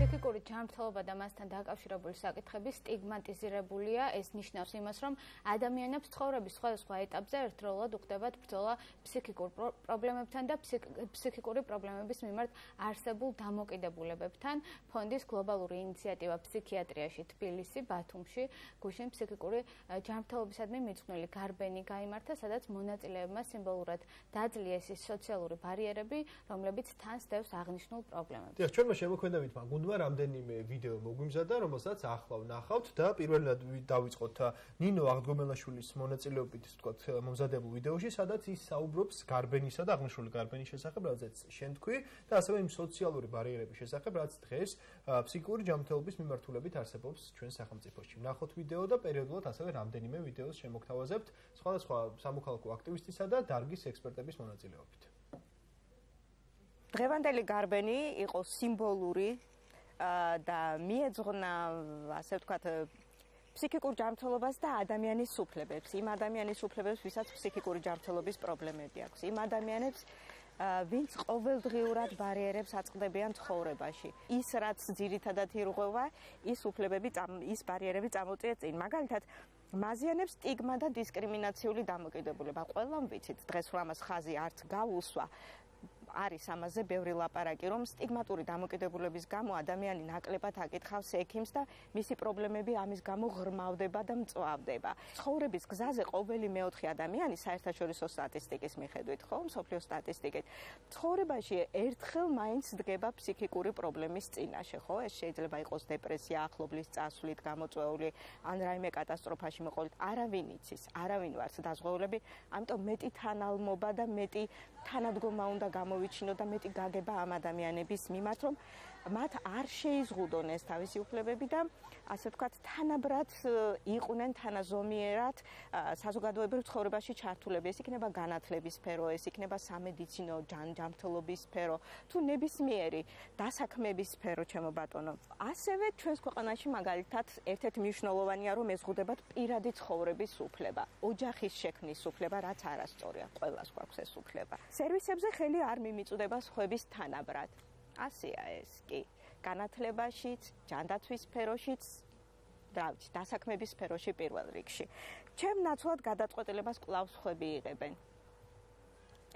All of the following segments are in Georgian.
ფსიქიკური ჯანმრთელობა და მასთან დაკავშირებული საკითხები სტიგმატიზირებულია. ეს ნიშნავს იმას, რომ ადამიანებს ცხოვრების სხვადასხვა ეტაპზე ერთდროულად უხდებათ ბრძოლა ფსიქიკურ პრობლემებთან და ფსიქიკური პრობლემების მიმართ არსებულ დამოკიდებულებებთან. ფონდის გლობალური ინიციატივა ფსიქიატრიაში თბილისი, ბათუმში, გუშინ ფსიქიკური ჯანმრთელობისადმი მიძღვნილი გარბენი გაიმართა, სადაც მონაწილეებმა სიმბოლურად დაძლიეს ის სოციალური ბარიერები, რომლებიც თან სდევს აღნიშნულ პრობლემებს. ჩვენმა შემოქმედებითმა გუნდმა რამდენიმე ვიდეო მოგვიმზადა, რომელსაც ახლა ვნახავთ და პირველად დავიწყოთ ნინო აღდგომელაშვილის მონაწილეობით, ვთქვათ, მომზადებულ ვიდეოში, სადაც ის საუბრობს გარბენისა და აღნიშნული გარბენის შესახებ, რადგან შენ თქვი და ასევე იმ სოციალური ბარიერების შესახებ, რაც დღეს ფსიქიკური ჯანმრთელობის მიმართულებით არსებობს ჩვენ სახელმწიფოში. ვნახოთ ვიდეო და პერიოდულად ასევე რამდენიმე ვიდეოს შემოგთავაზებთ სხვადასხვა სამოქალაქო აქტივისტისა და დარგის ექსპერტების მონაწილეობით. დღევანდელი გარბენი იყო სიმბოლური და მიეძღვნა, ასე ვთქვათ, ფსიქიკურ ჯანმრთელობას და ადამიანის უფლებებს. იმ ადამიანის უფლებებს, ვისაც ფსიქიკური ჯანმრთელობის პრობლემები აქვს. იმ ადამიანებს, ვინც ყოველდღიურად ბარიერებს აწყდებიან ცხოვრებაში. ის, რაც ძირითადად ირღვევა, ის უფლებები, ის ბარიერები წამოწია წინ. მაგალითად, მაზიანებს სტიგმა და დისკრიმინაციული დამოკიდებულება. ყველამ ვიცით, დღეს რომ ამას ხაზი არც გაუსვა, არის ამაზე ბევრი ლაპარაკი, რომ სტიგმატური დამოკიდებულების გამო ადამიანი ნაკლებად აკითხავს ექიმს და მისი პრობლემები ამის გამო ღრმავდება და მწვავდება. ცხოვრების გზაზე ყოველი მეოთხე ადამიანი საერთაშორისო სტატისტიკის მიხედვით, ხო, მსოფლიო სტატისტიკით, ცხოვრებაში ერთხელ მაინც დგება ფსიქიკური პრობლემის წინაშე, ხო? ეს შეიძლება იყოს დეპრესია, ახლობლის წასვლით გამოწვეული, ან რაიმე კატასტროფაში მოყოლით. არავინ იცის, არავინ ვართ დაზღვეულები, ამიტომ მეტი თანალმობა და მეტი თანადგომა უნდა გამოვიჩინო და მეტი გაგება ამ ადამიანების მიმართ, რომ მათ არ შეიზღუდონ ეს თავისი უფლებები და ასე ვთქვათ, თანაბრად იყვნენ თანაზომიერად საზოგადოებრივ ცხოვრებაში ჩართულები. ეს იქნება განათლების სფერო, ეს იქნება სამედიცინო ჯანმრთელობის სფერო, თუ ნებისმიერი დასაქმების სფერო, ჩემო ბატონო. ასევე ჩვენს ქვეყანაში მაგალითად ერთ-ერთი მნიშვნელოვანია, რომ ეზღუდებათ პირადი ცხოვრების უფლება, ოჯახის შექმნის უფლება, რაც არასწორია, ყველას გვაქვს ეს უფლება. სერვისებზე ხელი არ მიმიწვდება სხვების თანაბრად. ასეა ეს კი. განათლებაშიც, ჯანდაცვის სფეროშიც, დასაქმების სფეროში პირველ რიგში. ჩემ ნაცვლად გადაწყვეტილებას კვლავ სხვები იღებენ.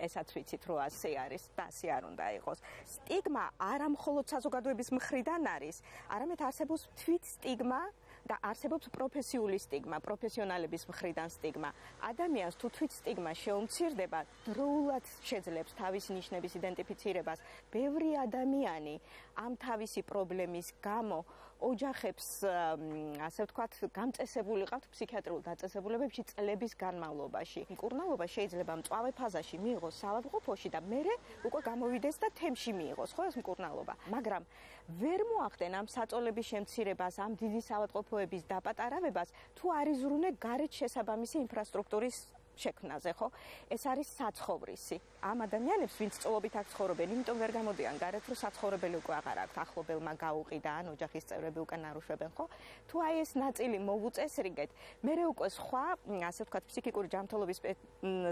ესაც ვიცით, რომ ასე არის და ასე არ უნდა იყოს. სტიგმა არა მხოლოდ საზოგადოების მხრიდან არის, არამედ არსებობს თვით სტიგმა და არსებობს პროფესიული სტიგმა, პროფესიონალების მხრიდან სტიგმა. ადამიანს თუ თვით სტიგმა შეუმცირდება, დროულად შეძლებს თავისი ნიშნების იდენტიფიცირებას. ბევრი ადამიანი ამ თავისი პრობლემის გამო ოჯახებს, ასე ვთქვათ, გამწესებული ყავთ ფსიქიატრიულ დაწესებულებებში წლების განმავლობაში. მკურნალობა შეიძლება მწვავე ფაზაში მიიღოს საავადმყოფოში და მერე უკვე გამოვიდეს და თემში მიიღოს, ხო ეს მკურნალობა. მაგრამ ვერ მოახდენ ამ საწოლების შემცირებას, ამ დიდი საავადმყოფოების დაპატარავებას, თუ არ იზრუნე გარეთ შესაბამისი ინფრასტრუქტურის შექმნაზე, ხო? ეს არის საცხოვრისი. ამ ადამიანებს, ვინც წლობით აქ ცხოვრობენ, იმიტომ ვერ გამოდიან გარეთ, რომ საცხოვრებელი უკვე აღარ აქვთ, ახლობელმა გაუყიდა ან ოჯახის წევრები უკვე ნარუშვებენ, ხო? თუ აი ეს ნაწილი მოვუწესრიგეთ, მერე უკვე სხვა, ასე ვთქვათ, ფსიქიკური ჯანმრთელობის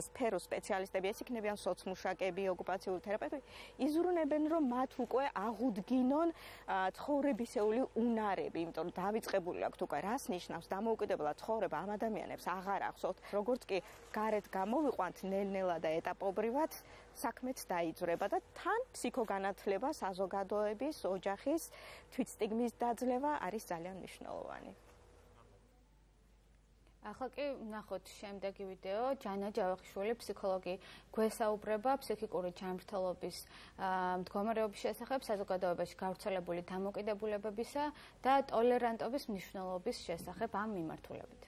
სფეროს სპეციალისტები, ეს იქნებიან სოცმუშაკები, ოკუპაციური თერაპევტები, იზრუნებენ, რომ მათ უკვე აღუდგინონ ცხოვრებისეული უნარები, იმიტომ რომ დავიწყებული აქვთ უკვე რას ნიშნავს დამოუკიდებლად ცხოვრება ამ ადამიანებს აღარ ახსოვთ, როგორც კი გარეთ გამოვიყვანთ ნელ-ნელა და ეტაპობრივად საქმეც დაიძვრება და თან ფსიქოგანათლება, საზოგადოების, ოჯახის თვითსტიგმის დაძლევა არის ძალიან მნიშვნელოვანი. ახლა კი ვნახოთ შემდეგი ვიდეო. ჯანა ჯავახიშვილი, ფსიქოლოგი, გვესაუბრება ფსიქიკური ჯანმრთელობის მდგომარეობის შესახებ, საზოგადოებაში გავრცელებული დამოკიდებულებებისა და ტოლერანტობის მნიშვნელობის შესახებ ამ მიმართულებით.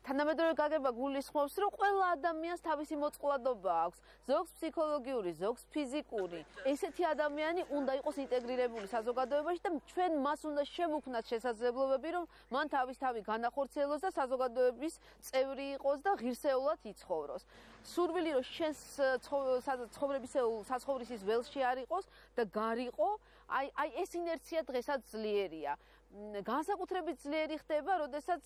თანამედროვე გაგება გულისხმობს, რომ ყველა ადამიანს თავისი მოწყვლადობა აქვს. ზოგს ფსიქოლოგიური, ზოგს ფიზიკური. ესეთი ადამიანი უნდა იყოს ინტეგრირებული საზოგადოებაში და ჩვენ მას უნდა შევუქმნათ შესაძლებლობები, რომ მან თავი განახორციელოს და საზოგადოების წევრი იყოს და ღირსეულად იცხოვროს. სურვილი რომ შენს საცხოვრისის ველში არ იყოს და გარიყო, აი ეს ინერცია დღესაც ძლიერია. განსაკუთრებით ძლიერი ხდება, როდესაც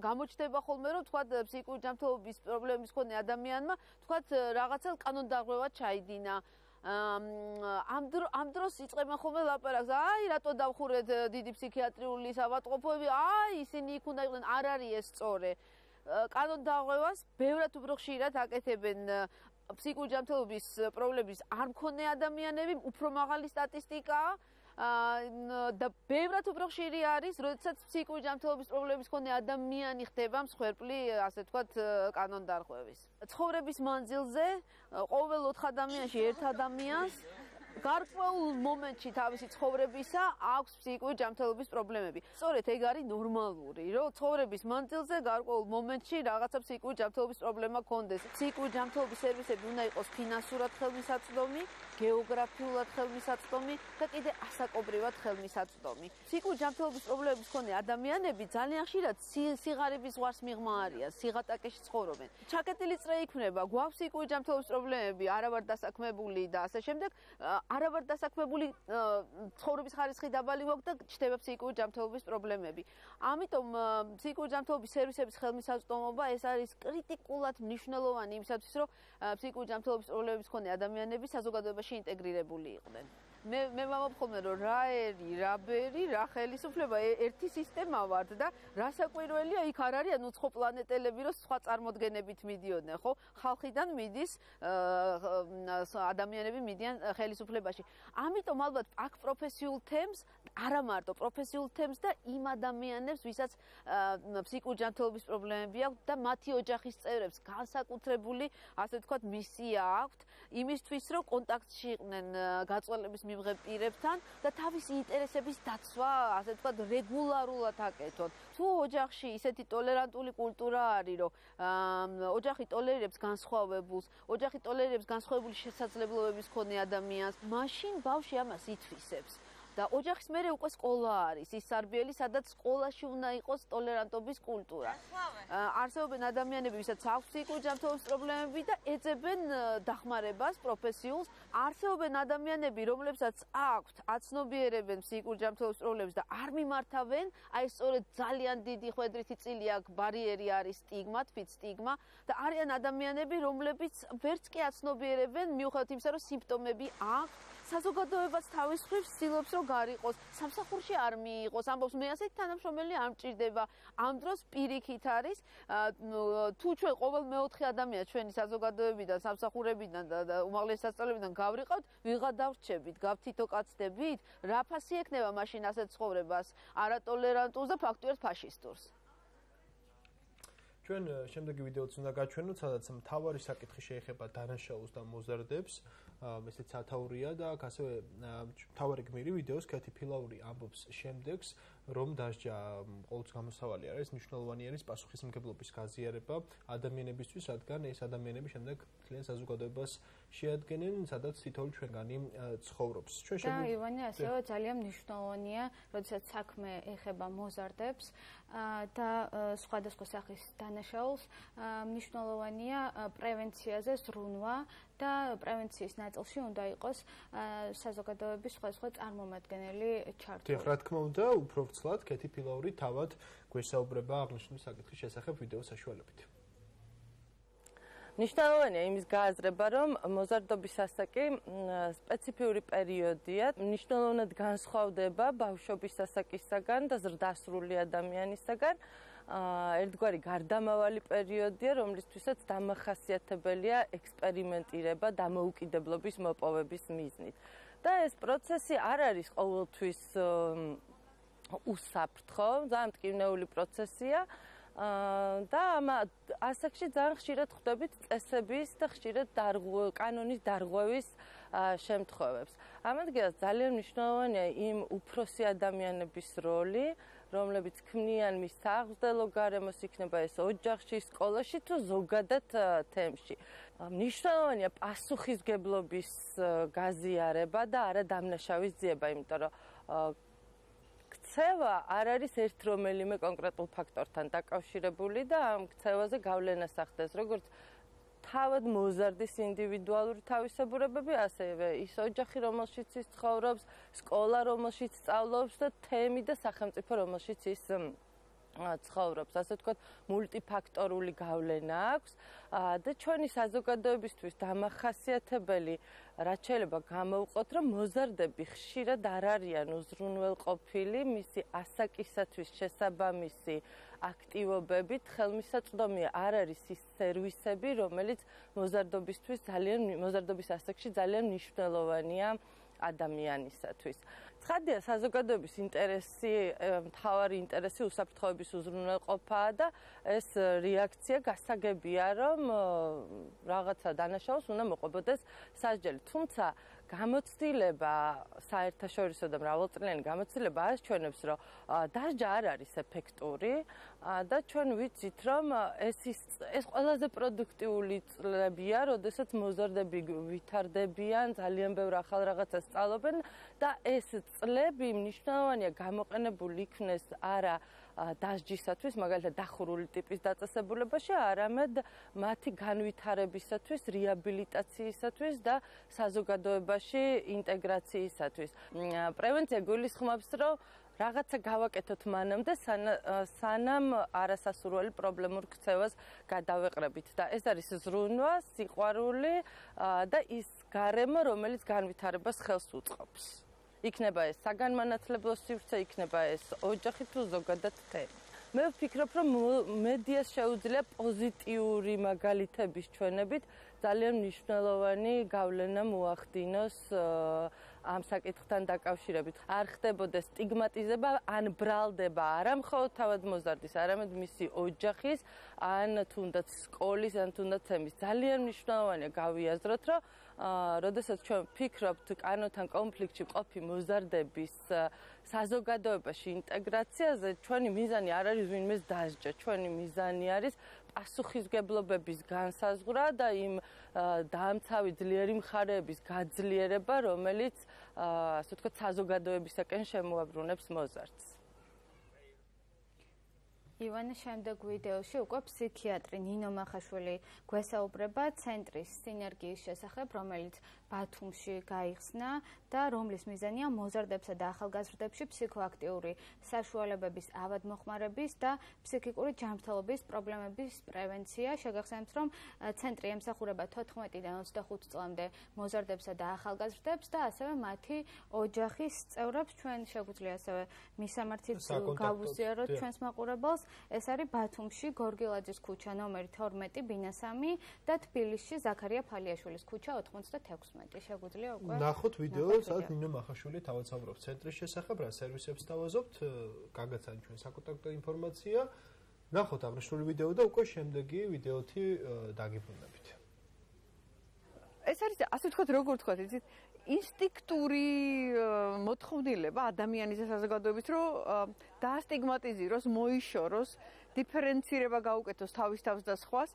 გამოჩნდება ხოლმე, რომ თქვა ფსიქიკური ჯანმრთელობის პრობლემის მქონე ადამიანმა, თქვა რაღაცა კანონდარღვევა ჩაიდინა. ამ დროს იწყებენ ხოლმე ლაპარაკს, აი რატო დავხურეთ დიდი ფსიქიატრიული ავადმყოფოები, აი ისინი იქ უნდა იყვნენ, არ არის ეს სწორი. კანონდარღვევას ბევრად უფრო ხშირად აკეთებენ ფსიქიკური ჯანმრთელობის პრობლემების არ მქონე ადამიანები, უფრო მაღალი სტატისტიკაა. და ბევრად უფრო ხშირი არის, როდესაც ფსიქიკური ჯანმრთელობის პრობლემების მქონე ადამიანი ხდება მსხვერპლი, ასე ვთქვათ, კანონდარღვევის. ცხოვრების მანძილზე ყოველ 4 ადამიანში ერთ ადამიანს გარკვეულ მომენტში თავისი ცხოვრებისა აქვს ფსიქიკური ჯანმრთელობის პრობლემები. სწორედ ეგ არის ნორმალური, რომ ცხოვრების მანძილზე გარკვეულ მომენტში რაღაცა ფსიქიკური ჯანმრთელობის პრობლემა გქონდეს. ფსიქიკური ჯანმრთელობის სერვისები უნდა იყოს ფინანსურად ხელმისაწვდომი, გეოგრაფიულად ხელმისაწვდომი და კიდე ასაკობრივად ხელმისაწვდომი. ფსიქიკური ჯანმრთელობის პრობლემების მქონე ადამიანები ძალიან ხშირად სიღარიბის ზღვარს მიღმა არიან, სიღატაკეში ცხოვრობენ. ჩაკეტილი წრე იქმნება, გვაქვს ფსიქიკური ჯანმრთელობის პრობლემები, არავარ დასაქმებული და ასე შემდეგ. არავარ დასაქმებული ცხოვრების ხარისხი დაბალი გვაქვს და ჩნდება ფსიქიკური ჯანმრთელობის პრობლემები. ამიტომ ფსიქიკური ჯანმრთელობის სერვისების ხელმისაწვდომობა ეს არის კრიტიკულად მნიშვნელოვანი იმისათვის, რომ ფსიქიკური ჯანმრთელობის პრობლემების მქონე ადამიანები საზოგადოებაში ინტეგრირებული იყვნენ. მე ვამბობ რომ რა ერი, რა ბერი, რა ხელისუფლება ერთი სისტემა ვართ და რა საკვირველია იქ არ არიან უცხო პლანეტელები, რომ სხვა წარმოდგენებით მიდიოდნენ, ხო? ხალხიდან მიდის ადამიანები მიდიან ხელისუფლებაში. ამიტომ ალბათ აქ პროფესიულ თემს, არა მარტო პროფესიულ თემს და იმ ადამიანებს, ვისაც ფსიქიკური ჯანმრთელობის პრობლემები აქვს და მათი ოჯახის წევრებს განსაკუთრებული, ასე ვთქვათ, მისია აქვთ იმისთვის, რომ კონტაქტში იყვნენ გაწყვეტილების მიღებ პირებთან და თავისი ინტერესების დაცვა, ასე ვთქვათ, რეგულარულად აკეთონ. თუ ოჯახში ისეთი ტოლერანტული კულტურა არის, რომ ოჯახი ტოლერირებს განსხვავებულს, ოჯახი ტოლერირებს განსხვავებული შესაძლებლობების მქონე ადამიანს, მაშინ ბავშვი ამას ითვისებს. და ოჯახის მერე უკვე სკოლა არის, ის სარბიელი, სადაც სკოლაში უნდა იყოს ტოლერანტობის კულტურა. არსებობენ ადამიანები, ვისაც აქვს ფსიქიკური ჯანმრთელობის პრობლემები და ეძებენ დახმარებას პროფესიულს. არსებობენ ადამიანები, რომლებსაც აქვთ, აცნობიერებენ ფსიქიკური ჯანმრთელობის პრობლემებს და არ მიმართავენ, აი სწორედ ძალიან დიდი ხვედრითი წილი აქ ბარიერი არის სტიგმა, თვით სტიგმა და არიან ადამიანები, რომლებიც ვერც კი აცნობიერებენ, მიუხედავად იმისა, რომ სიმპტომები აქვს. საზოგადოებას თავის მხრივ ცდილობს, რომ გარიყოს, სამსახურში არ მიიღოს, ამბობს მე ასეთი თანამშრომელი არ მჭირდება. ამ დროს პირიქით არის, თუ ჩვენ ყოველ მეოთხე ადამიანს ჩვენი საზოგადოებიდან, სამსახურებიდან და უმაღლესი სასწავლებიდან გავრიყავთ, ვიღა დავრჩებით, გავთითოკაცდებით, რა ფასი ექნება მაშინ ასეთ ცხოვრებას, არატოლერანტულს და ფაქტიურად ფაშისტურს. ჩვენ შემდეგი ვიდეოც უნდა გაჩვენოთ, სადაც მთავარი საკითხი შეეხება დანაშაულს და მოზარდებს. ესეც სათაურია და აქ ასევე მთავარი გმირი ვიდეოს კეთი ფილაური ამბობს შემდეგს, რომ დასჯა ყოველთვის გამოსავალი არის, მნიშვნელოვანი არის პასუხისმგებლობის გაზიარება ადამიანებისთვის, რადგან ეს ადამიანები შემდეგ ძალიან საზოგადოებას შეადგენენ, სადაც თითოეული ჩვენგანი ცხოვრობს. და ივანე ასევე ძალიან მნიშვნელოვანია, როდესაც საქმე ეხება მოზარდებს და სხვადასხვა სახის დანაშაულს, მნიშვნელოვანია პრევენციაზე ზრუნვა და პრევენციის ნაწილში უნდა იყოს საზოგადოების სხვადასხვა წარმომადგენელი ჩართული. დიახ, რა თქმა უნდა, უფრო ვრცლად კეთი ფილაური თავად გვესაუბრება აღნიშნული საკითხის შესახებ ვიდეოს საშუალებით. მნიშვნელოვანია იმის გააზრება, რომ მოზარდობის ასაკი სპეციფიური პერიოდია, მნიშვნელოვნად განსხვავდება ბავშვობის ასაკისაგან და ზრდასრული ადამიანისაგან. ერთგვარი გარდამავალი პერიოდია, რომლისთვისაც დამახასიათებელია ექსპერიმენტირება დამოუკიდებლობის მოპოვების მიზნით. და ეს პროცესი არ არის ყოველთვის უსაფრთხო, ძალიან მტკივნეული პროცესია. და ამ ასაკში ძალიან ხშირად ხვდებით წესების და ხშირად კანონის დარღვევის შემთხვევებს. ამ ადგილას ძალიან მნიშვნელოვანია იმ უფროსი ადამიანების როლი, რომლებიც ქმნიან მის საღვთელო გარემოს, იქნება ეს ოჯახში, სკოლაში თუ ზოგადად თემში. მნიშვნელოვანია პასუხისმგებლობის გაზიარება და არა დამნაშავის ძიება, იმიტომ რომ ქცევა არ არის ერთ რომელიმე კონკრეტულ ფაქტორთან დაკავშირებული და ამ ქცევაზე გავლენას ახდენს როგორც თავად მოზარდის ინდივიდუალური თავისებურებები, ასევე ის ოჯახი, რომელშიც ის ცხოვრობს, სკოლა, რომელშიც სწავლობს და თემი და სახელმწიფო, რომელშიც ის ცხოვრობს, ასე ვთქვათ, მულტიფაქტორული გავლენა აქვს და ჩვენი საზოგადოებისთვის დამახასიათებელი რაც შეიძლება გამოვყოთ, რომ მოზარდები ხშირად არ არიან უზრუნველყოფილი მისი ასაკისათვის შესაბამისი აქტივობებით, ხელმისაწვდომი არ არის ის სერვისები, რომელიც მოზარდობის ასაკში ძალიან მნიშვნელოვანია ადამიანისათვის. ცხადია, საზოგადოების ინტერესი, მთავარი ინტერესი უსაფრთხოების უზრუნველყოფაა და ეს რეაქცია გასაგებია, რომ რაღაცა დანაშაულს უნდა მოყვებოდეს სასჯელი. თუმცა გამოცდილება საერთაშორისო და მრავალწლიანი გამოცდილება აჩვენებს, რომ დასჯა არ არის ეფექტური და ჩვენ ვიცით, რომ ეს ყველაზე პროდუქტიული წლებია, როდესაც მოზარდები ვითარდებიან, ძალიან ბევრ ახალ რაღაცას სწავლობენ და ეს წლები მნიშვნელოვანია გამოყენებული იქნეს არა დასჯისათვის, მაგალითად დახურული ტიპის დაწესებულებაში, არამედ მათი განვითარებისათვის, რეაბილიტაციისათვის და საზოგადოებაში ინტეგრაციისათვის. პრევენცია გულისხმობს, რომ რაღაცა გავაკეთოთ მანამდე, სანამ არასასურველი პრობლემურ ქცევას გადავეყრებით და ეს არის ზრუნვა, სიყვარული და ის გარემო, რომელიც განვითარებას ხელს უწყობს. იქნება ეს საგანმანათლებლო სივრცე, იქნება ეს ოჯახი თუ ზოგადად თემი. მე ვფიქრობ, რომ მედიას შეუძლია პოზიტიური მაგალითების ჩვენებით ძალიან მნიშვნელოვანი გავლენა მოახდინოს ამ საკითხთან დაკავშირებით. არ ხდებოდეს სტიგმატიზება, ან ბრალდება არა მხოლოდ თავად მოზარდის, არამედ მისი ოჯახის, ან თუნდაც სკოლის, ან თუნდაც თემის. ძალიან მნიშვნელოვანია გავიაზროთ, რომ როდესაც ჩვენ ვფიქრობთ კანონთან კონფლიქტში მყოფი მოზარდების საზოგადოებაში ინტეგრაციაზე, ჩვენი მიზანი არ არის ვინმეს დასჯა, ჩვენი მიზანი არის პასუხისმგებლობების განსაზღვრა და იმ დაამცავი ძლიერი მხარეების გაძლიერება, რომელიც ასე ვთქვათ, საზოგადოებისაკენ შემოაბრუნებს მოზარდს. ივანე, შემდეგ ვიდეოში უკვე ფსიქიატრი ნინო მახაშვილი გვესაუბრება ცენტრის სინერგიის შესახებ, რომელიც ბათუმში გაიხსნა და რომლის მიზანია მოზარდებსა და ახალგაზრდებში ფსიქოაქტიური საშუალებების ავადმოხმარების და ფსიქიკური ჯანმრთელობის პრობლემების პრევენცია. შეგახსენებთ, რომ ცენტრი ემსახურება 14-დან 25 წლამდე მოზარდებსა და ახალგაზრდებს და ასევე მათი ოჯახის წევრებს. ჩვენ შეგვიძლია ასევე მისამართით გავუზიაროთ ჩვენს მაყურებელს. ეს არის ბათუმში გორგილაძის ქუჩა ნომერი 12 ბინა 3 და თბილისში ზაქარია ფალიაშვილის ქუჩა 96. შეგვიძლია უკვე ნახოთ ვიდეო, სადაც ნინო მახაშვილი თავად საუბრობს ცენტრის შესახებ, რა სერვისებს თავაზობთ, გაგაცანით ჩვენ საკონტაქტო ინფორმაცია. ნახოთ აღნიშნული ვიდეო და უკვე შემდეგი ვიდეოთი დაგიბრუნებით. ეს არის ასე ვთქვათ, როგორ ვთქვათ, იცით, ინსტინქტური მოთხოვნილება ადამიანის და საზოგადოების, რომ დაასტიგმატიზიროს, მოიშოროს, დიფერენცირება გაუკეთოს თავის თავს და სხვას,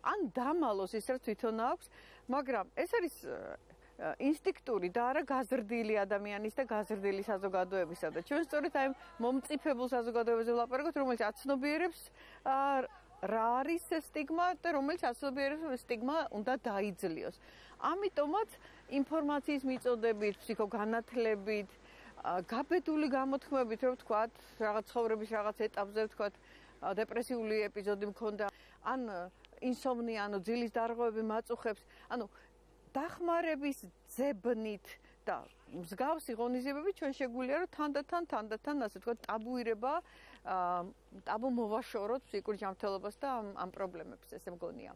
ან დამალოს ის, რაც თვითონ აქვს, მაგრამ ეს არის ინსტინქტური და არა გაზრდილი ადამიანის და გაზრდილი საზოგადოებისა და ჩვენ სწორედ აი მომწიფებულ საზოგადოებაზე ვლაპარაკობთ, რომელიც აცნობიერებს რა არის სტიგმა და რომელიც აცნობიერებს რომ სტიგმა უნდა დაიძლიოს. ამიტომაც ინფორმაციის მიწოდებით, ფსიქოგანათლებით, გაბედული გამოთქმებით, რომ ვთქვათ, რაღაც ცხოვრების რაღაც ეტაპზე ვთქვათ, დეპრესიული ეპიზოდი მქონდა, ან ინსომნია, ანუ ძილის დარღვევები მაწუხებს, ანუ დახმარების ძებნით და მსგავსი ღონისძიებები ჩვენ შეგვიძლია რომ თანდათან ასე ვთქვათ ტაბუირება ტაბუ მოვაშოროთ ფსიქიკური ჯანმრთელობას და ამ პრობლემებს ესე მგონია.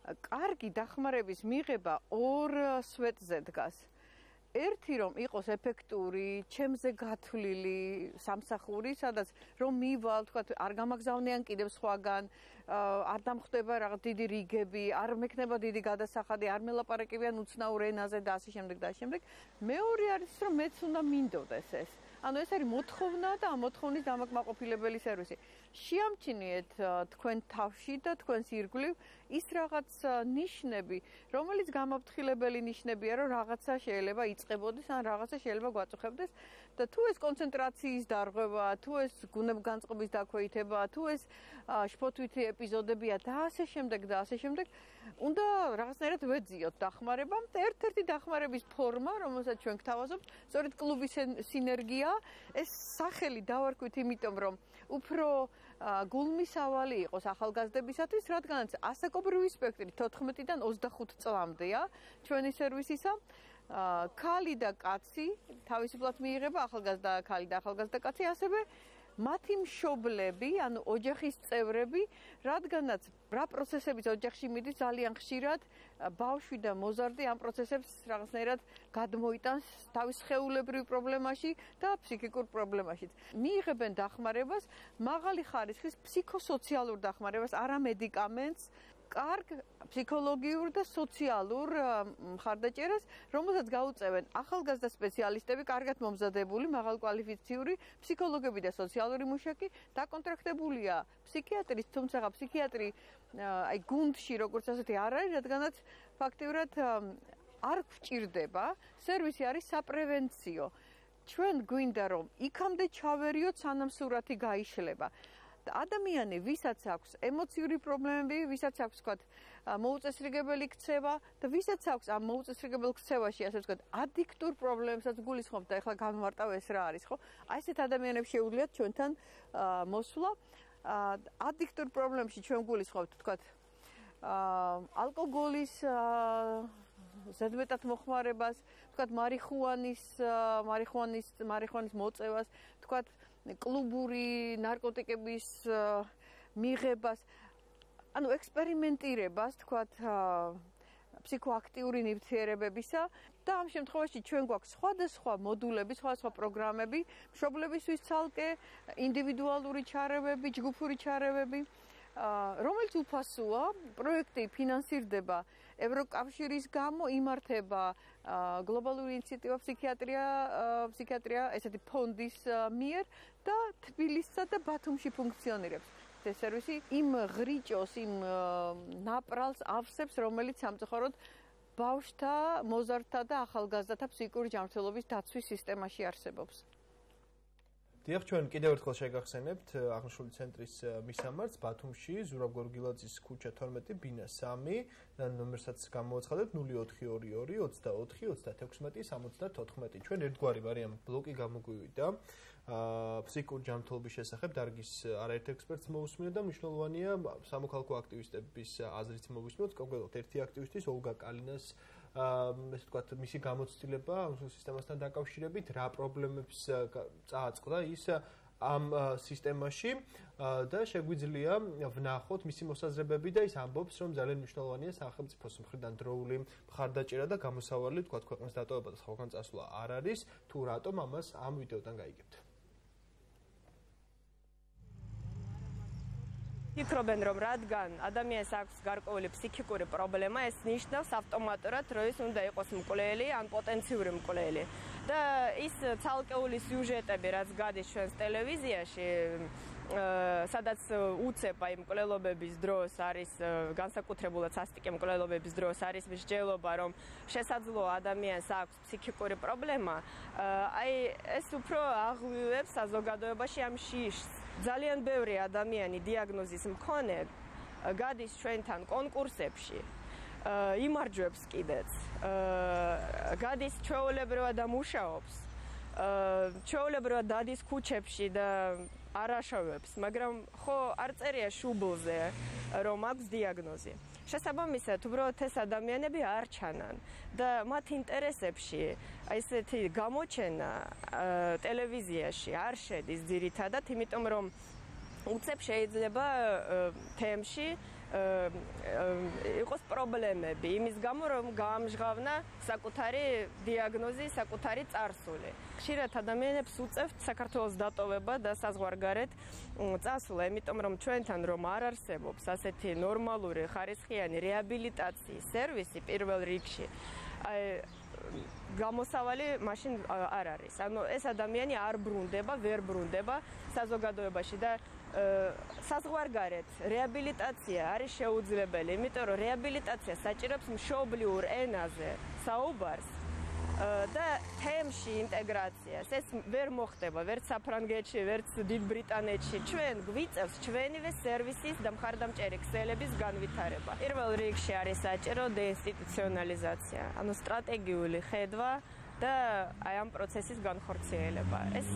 კარგი დახმარების მიღება ორ სვეტზე დგას. ერთი რომ იყოს ეფექტური, ჩემზე გათვლილი სამსახური, სადაც რომ მივალ, თქვათ, არ გამაგზავნიან კიდევ სხვაგან, არ დამხვდება რაღაც დიდი რიგები, არ მექნება დიდი გადასახადი, არ მელაპარაკებიან უცნაურ ენაზე და ასე შემდეგ და ასე შემდეგ. მეორე არის რომ მეც უნდა მინდოდეს ეს. ანუ ეს არის მოთხოვნა და ამ მოთხოვნის დამაკმაყოფილებელი სერვისი. შეამჩნიეთ თქვენ თავში და თქვენს ირგვლივ ის რაღაც ნიშნები, რომელიც გამაფრთხილებელი ნიშნებია, რომ რაღაცა შეიძლება იწყებოდეს, ან რაღაცა შეიძლება გვაწუხებდეს და თუ ეს კონცენტრაციის დარღვევა, თუ ეს გუნებგანწყობის დაქვეითება, თუ ეს შფოთვითი ეპიზოდებია და ასე შემდეგ და ასე შემდეგ, უნდა რაღაცნაირად ვეძიოთ დახმარებამ და ერთ-ერთი დახმარების ფორმა, რომელსაც ჩვენ გთავაზობთ, სწორედ კლუბის სინერგია, ეს სახელი დავარქვით იმიტომ, რომ უფრო გულმისავალი იყოს ახალგაზრდებისათვის, რადგანაც ასაკობრივი სპექტრი 14-დან 25 წლამდეა ჩვენი სერვისისა. ქალი და კაცი თავისუფლად მიიღება, ახალგაზრდა ქალი და ახალგაზრდა კაცი, ასევე მათი მშობლები, ანუ ოჯახის წევრები, რადგანაც რა პროცესებიც ოჯახში მიდის, ძალიან ხშირად ბავშვი და მოზარდი ამ პროცესებს რაღაცნაირად გადმოიტანს თავის სხეულებრივ პრობლემაში და ფსიქიკურ პრობლემაშიც. მიიღებენ დახმარებას, მაღალი ხარისხის ფსიქოსოციალურ დახმარებას, არა მედიკამენტს, კარგ ფსიქოლოგიურ და სოციალურ მხარდაჭერას, რომელსაც გაუწევენ ახალგაზრდა სპეციალისტები, კარგად მომზადებული, მაღალკვალიფიციური ფსიქოლოგები და სოციალური მუშაკი, დაკონტრაქტებულია ფსიქიატრის, თუმცა ფსიქიატრი აი გუნდში როგორც ასეთი არ არის, რადგანაც ფაქტიურად არ გვჭირდება, სერვისი არის საპრევენციო. ჩვენ გვინდა რომ იქამდე ჩავერიოთ, სანამ სურათი გაიშლება. ადამიანი, ვისაც აქვს ემოციური პრობლემები, ვისაც აქვს თქვათ მოუწესრიგებელი ქცევა და ვისაც აქვს ამ მოუწესრიგებელ ქცევაში, ასე ვთქვათ, ადიქტურ პრობლემებსაც გულისხმობ და ეხლა განმარტავ ეს რა არის, ხო? აი ესეთ ადამიანებს შეუძლიათ ჩვენთან მოსვლა. ადიქტურ პრობლემებში ჩვენ გულისხმობთ, თქვათ, ალკოგოლის ზედმეტად მოხმარებას, თქვათ, მარიხუანის მოწევას, თქვათ, კლუბური ნარკოტიკების მიღებას, ანუ ექსპერიმენტირებას, თქვათ, ფსიქოაქტიური ნივთიერებებისა და ამ შემთხვევაში ჩვენ გვაქვს სხვადასხვა მოდულები, სხვადასხვა პროგრამები, მშობლებისთვის ცალკე, ინდივიდუალური ჩარევები, ჯგუფური ჩარევები, რომელიც უფასოა, პროექტი ფინანსირდება ევროკავშირის გამო, იმართება გლობალური ინიციატივა ფსიქიატრია, ესეთი ფონდის მიერ და თბილისსა და ბათუმში ფუნქციონირებს. ეს სერვისი იმ ღრიჭოს, იმ ნაპრალს ავსებს, რომელიც სამწუხაროდ ბავშვთა, მოზარდთა და ახალგაზრდათა ფსიქიკური ჯანმრთელობის დაცვის სისტემაში არსებობს. დიახ, ჩვენ კიდევ ერთხელ შეგახსენებთ აღნიშნული центრის მისამართს ბათუმში, ზურაბ გორგილაძის ქუჩა 12, ბინა 3, ნომერსაც გამოვაცხადეთ 0422 24 36 74. ჩვენ ერთგვარი ვარიანტ ბლოკი გამოგვივიდა. ფსიქიკური ჯანმრთელობის შესახებ დარგის არაერთ ექსპერტს მოусმინოთ და მნიშვნელოვანია სამოქალაქო აქტივისტების აზრით მოვისმინოთ, კონკრეტულად ერთი აქტივისტის ოლგა კალინას ესე ვთქვათ, მისი გამოცდილება ამ სისტემასთან დაკავშირებით, რა პრობლემებს წააწყდა ის ამ სისტემაში და შეგვიძლია ვნახოთ მისი მოსაზრებები და ის ამბობს, რომ ძალიან მნიშვნელოვანია სახელმწიფოს მხრიდან დროული მხარდაჭერა და გამოსავალი, ვთქვათ, ქვეყნის დატოვება და სხვაგან წასვლა არ არის, თუ რატომ ამას ამ ვიდეოდან გაიგებთ. ფიქრობენ, რომ რადგან ადამიანს აქვს გარკვეული ფსიქიკური პრობლემა, ეს ნიშნავს ავტომატურად, რომ ის უნდა იყოს მკვლელი ან პოტენციური მკვლელი. და ის ცალკეული სიუჟეტები, რაც გადის ჩვენს ტელევიზიაში, სადაც უცებ აი მკვლელობების დროს არის განსაკუთრებულად სასტიკი მკვლელობების დროს არის მსჯელობა, რომ შესაძლოა ადამიანს აქვს ფსიქიკური პრობლემა, აი ეს უფრო აღვივებს საზოგადოებაში ამ შიშს. ძალიან ბევრი ადამიანი დიაგნოზის მქონე გადის ჩვენთან კონკურსებში, იმარჯვებს კიდეც, გადის ჩვეულებრივად და მუშაობს, ჩვეულებრივად დადის ქუჩებში და არ აშავებს, მაგრამ ხო არ წერია შუბლზე, რომ აქვს დიაგნოზი. შესაბამისად, უბრალოდ ეს ადამიანები არ ჩანან და მათ ინტერესებში ესეთი გამოჩენა ტელევიზიაში არ შედის ძირითადად, იმიტომ რომ უცებ შეიძლება თემში იყოს პრობლემები, იმის გამო რომ გაამჟღავნა საკუთარი დიაგნოზი, საკუთარი წარსული. ხშირად ადამიანებს უწევთ საქართველოს დატოვება და საზღვარგარეთ წასვლა, იმიტომ რომ ჩვენთან რომ არ არსებობს ასეთი ნორმალური ხარისხიანი რეაბილიტაციის სერვისი პირველ რიგში, გამოსავალი მაშინ არ არის. ანუ ეს ადამიანი არ ბრუნდება, ვერ ბრუნდება საზოგადოებაში და საზღვარგარეთ რეაბილიტაცია არის შეუძლებელი, იმიტომ რომ რეაბილიტაცია საჭიროებს მშობლიურ ენაზე საუბარს და თემში ინტეგრაციას. ეს ვერ მოხდება ვერც საფრანგეთში, ვერც დიდ ბრიტანეთში. ჩვენ გვიწევს ჩვენივე სერვისის და მხარდამჭერი ქსელების განვითარება. პირველ რიგში არის საჭირო დეინსტიტუციონალიზაცია, ანუ სტრატეგიული ხედვა და აი ამ პროცესის განხორციელება. ეს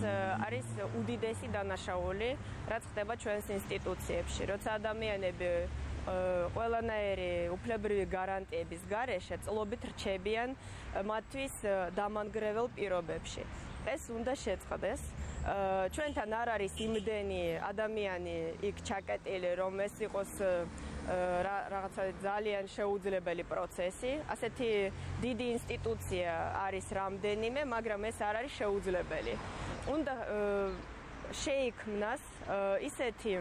არის უდიდესი დანაშაული, რაც ხდება ჩვენს ინსტიტუციებში, როცა ადამიანები ყველანაირი უფლებრივი გარანტიების გარეშე წლობით რჩებიან მათთვის დამანგრეվել პირობებში. ეს უნდა შეწყდეს. ჩვენთან არ არის იმდენი ადამიანი იქ ჩაკეტილი, რომ ეს იყოს რაღაცა ძალიან შეუძლებელი პროცესი. ასეთი დიდი ინსტიტუცია არის რამდენიმე, მაგრამ ეს არ არის შეუძლებელი. უნდა შეიქმნას ისეთი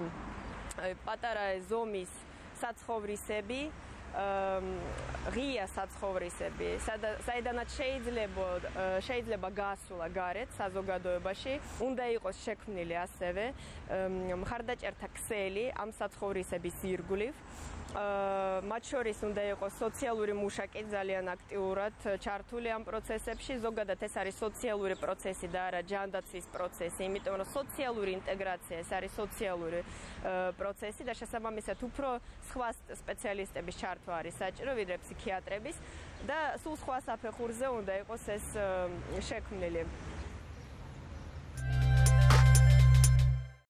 პატარა ზომის საცხოვრისები, ღია საცხოვრისები, საიდანაც შეიძლება გასულა გარეთ საზოგადოებაში, უნდა იყოს შექმნილი ასევე მხარდაჭერთა ქსელი ამ საცხოვრისების ირგვლივ. მათ შორის უნდა იყოს სოციალური მუშაკი ძალიან აქტიურად ჩართული ამ პროცესებში. ზოგადად ეს არის სოციალური პროცესი და არა ჯანდაცვის პროცესი, იმიტომ რომ სოციალური ინტეგრაცია ეს არის სოციალური პროცესი და შესაბამისად უფრო სხვა სპეციალისტების ჩართვა არის საჭირო ვიდრე ფსიქიატრების და სულ სხვა საფეხურზე უნდა იყოს ეს შექმნილი.